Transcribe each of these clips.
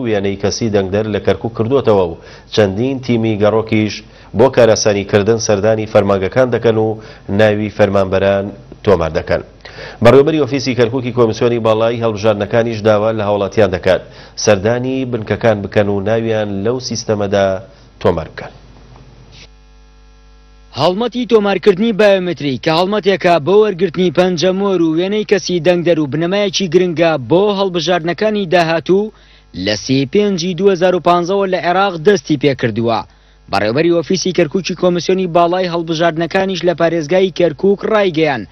وێنەی کەسی دەنگدەر لە کەرکوک کردووەتەوە و چەندین تیمی گەڕۆکیش بۆ کارئاسانیکردن سەردانی فەرمانگەکان دەکەن و ناوی فەرمانبەران تۆمار دەکەن. بەڕێوەبەری ئۆفیسی کەرکوکی کۆمیسیۆنی باڵای هەڵبژاردنەکانیش داوا لە هاوڵاتیان دەکات سەردانی بنکەکان بکەن و ناویان لەو سیستەمەدا تۆمار بکەن. هەڵمەتی تۆمارکردنی بایۆمەتری کە هەڵمەتێکە بۆ وەرگرتنی پەنجەمۆر و وێنەی کەسی دەنگدەر و بنەمایەکی گرنگە بۆ هەڵبژاردنەکانی داهاتوو لە سی پێنجی 2015 وە لە عێراق دەستی پێکردووە. بەڕێوبەری ئۆفیسی کەرکوکی کۆمیسیۆنی باڵای هەڵبژاردنەکانیش لە پارێزگای کەرکوک ڕایگەیان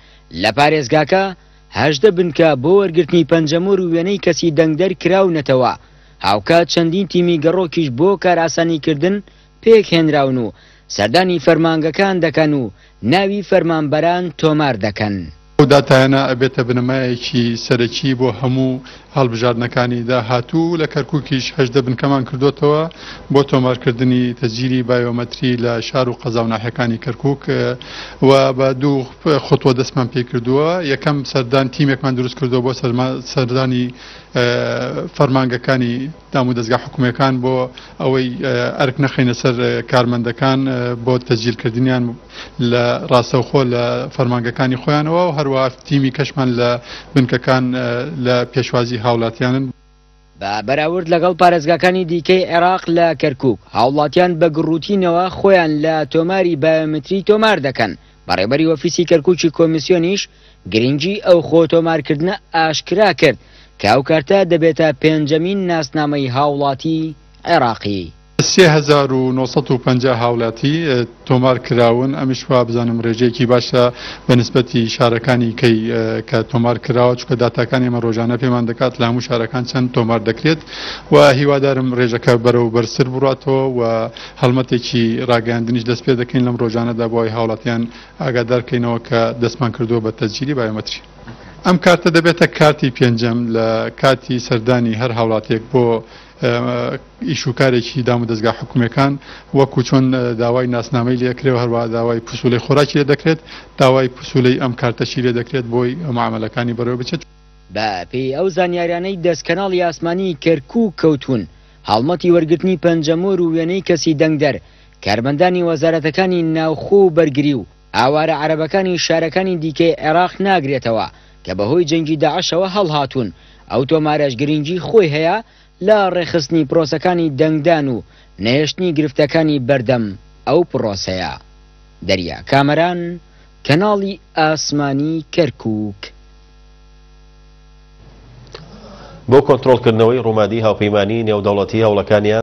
لە پارێزگاکە 18 بنکە بۆ وەرگرتنی پەنجەمۆر و وێنەی کەسی دەنگدەر کراونەتەوە، هاوکات چەندین تیمی گەڕۆکیش بۆ کارئاسانیکردن پێکهێنراون و سەردانی فەرمانگەکان دەکەن و ناوی فەرمانبەران تۆمار دەکەن. ئەو داتایانە ئەبێتە بنەمایەکی سەرەکی بۆ هەموو هەڵبژاردنەکانی داهاتوو، لە کەرکوکیش 18 بنکەمان کردۆتەوە بۆ تۆمارکردنی تەسجیلی بایۆمەتری لە شار و قەزا و ناحیەکانی کەرکوک و بە دوو خطوە دەستمان پێکردووە، یەکەم سەردان تیمێکمان دروست کردووە بۆ سەردانی فەرمانگەکانی دامودەزگا حکومییەکان بۆ ئەوەی ئەرک نەخەینە سەر کارمەندەکان بۆ تەسجیلکردنیان لە ڕاستەوخۆ لە فەرمانگەکانی خۆیانەوە و هەروەها تیمی کەشمان لە بنکەکان لە پێشوازی هاوڵاتیانن. بە بەراورد لەگەڵ پارێزگاکانی دیکەی عێراق لە کەرکوک هاوڵاتیان بە گڕوتینەوە خۆیان لە تۆماری بایۆمەتری تۆمار دەکەن، بەڕێوبەری ئۆفیسی کەرکوکی کۆمیسیۆنیش گرنگی ئەو خۆ تۆمارکردنە ئاشکرا کرد کە ئەو کارتە دەبێتە پێنجەمین ناسنامەی هاوڵاتی عێراقی. 3950 هاوڵاتی تۆمار کراون، ئەمیش وابزانم رێژەیەکی باشە بە نسبەتی شارەکانی کەی کە تۆمار کراوە، چونکە داتاکانی ئێمە رۆژانە پێمان دەکات لە هەموو شارەکان چەند تۆمار دەکرێت و هیوادارم رێژەکە بەرەو بەرزتر بڕاتەوە و هەڵمەتێکی راگەیاندنیش دەست پێ دەکەین لەم رۆژانەدا بۆ ئەوەی هاوڵاتیان ئاگادار کەینەوە کە دەستمان کردووە بە تەسجیلی بایۆمەتری. ئەم کارتە دەبێتە کارتی پێنجەم لە کاتی سەردانی هەر هاوڵاتیەک بۆ ئیش و کارێکی دام و دەزگا حکومیەکان وەکو چۆن داوای ناسنامەی لێ ئەکرێ و هەروەها داوای پسولەی خۆراکی لێ دەکرێت داوای پسولەی ئەم کارتەشی لێ دەکرێت بۆی معامەلەکانی بەڕێوە بچێت. بە پێی ئەو زانیاریانەی دەست کەناڵی ئاسمانی کەرکوک کەوتوون، هەڵمەتی وەرگرتنی پەنجەمۆر و وێنەی کەسی دەنگدەر، کارمەندانی وەزارەتەکانی ناوخۆ و بەرگری و ئاوارە عەرەبەکانی شارەکانی دیکەی عێراق ناگرێتەوە کە بەهۆی جەنگی داعشەوە هەڵهاتوون، ئەو تۆمارەش گرنگی خۆی هەیە لە ڕێکخستنی پرۆسەکانی دەنگدان و نەهێشتنی گرفتەکانی بەردەم ئەو پرۆسەیە. دەریا کامەران، کەناڵی ئاسمانی کەرکوک. بۆ کۆنترۆڵکردنەوەی ڕومادی هاوپەیمانیی نێودەوڵەتی هەوڵەکانیان.